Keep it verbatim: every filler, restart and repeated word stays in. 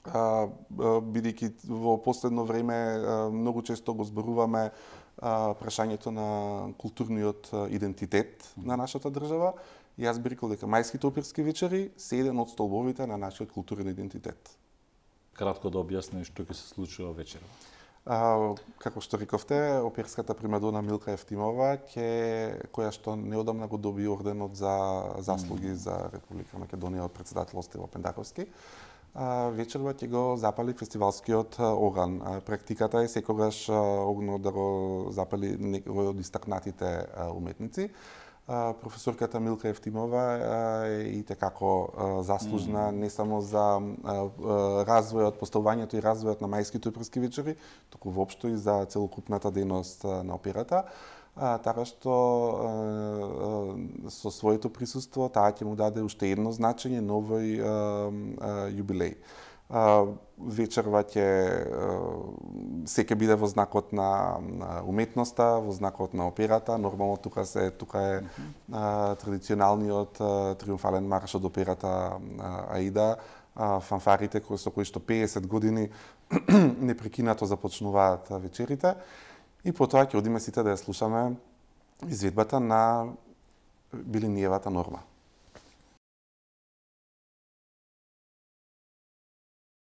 бидејќи во последно време многу често го зборуваме прашањето на културниот идентитет на нашата држава. И јас би рекол дека мајските оперски вечери се еден од столбовите на нашиот културен идентитет. Кратко да објасни што ќе се случува вечерва. А, како што рековте, оперската примадона Милка Евтимова, ке, која што неодамна го доби орденот за заслуги mm. за Република Македонија од председател Стево Пендаковски, а, вечерва ќе го запали фестивалскиот оган. А, практиката е секогаш огнот да го запали некој од истакнатите уметници. Професорката Милка Евтимова е и tekako заслужна mm. не само за развојот, поставувањето и развојот на мајските оперски вечери, туку воопшто и за целокупната дејност на операта. Така што со своето присуство таа ќе му даде уште едно значење на овој јубилеј. Вечерва ќе се ќе биде во знакот на уметноста, во знакот на операта. Нормално тука се тука е mm -hmm. традиционалниот триумфален марш од операта Аида, фанфарите кои со кои што пеесет години непрекинато започнуваат вечерите. И потоа ќе одиме сите да ја слушаме изведбата на Билиниевата норма.